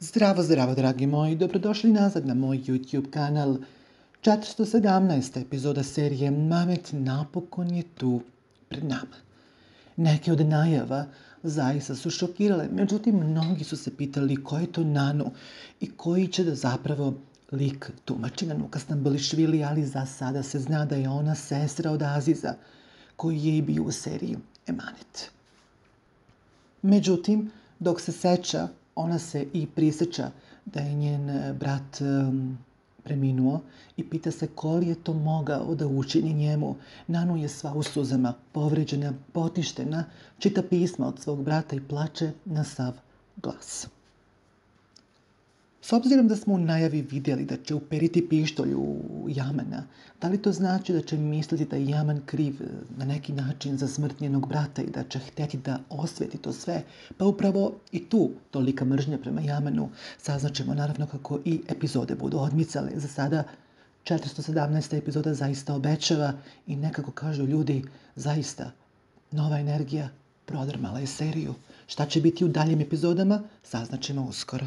Zdravo, zdravo, dragi moji, dobrodošli nazad na moj YouTube kanal. 417. epizoda serije Mamet napokon je tu pred nama. Neke od najava zaista su šokirale, međutim mnogi su se pitali ko je to Nanu i koji će da zapravo lik tumači Nanuka Stambolišvili, ali za sada se zna da je ona sestra od Aziza, koji je i bio u seriji Emanet. Međutim, dok se seća, ona se i prisjeća da je njen brat preminuo i pita se ko li je to mogao da učini njemu. Nanu je sva u suzama, povređena, potištena, čita pisma od svog brata i plače na sav glas. S obzirom da smo u najavi vidjeli da će uperiti pištolj u Jamana, da li to znači da će misliti da je Jaman kriv na neki način za smrt njenog brata i da će htjeti da osveti to sve? Pa upravo i tu tolika mržnja prema Jamanu. Saznaćemo naravno kako i epizode budu odmicale. Za sada 417. epizoda zaista obećava i nekako kažu ljudi, zaista nova energija prodrmala je seriju. Šta će biti u daljim epizodama, saznaćemo uskoro.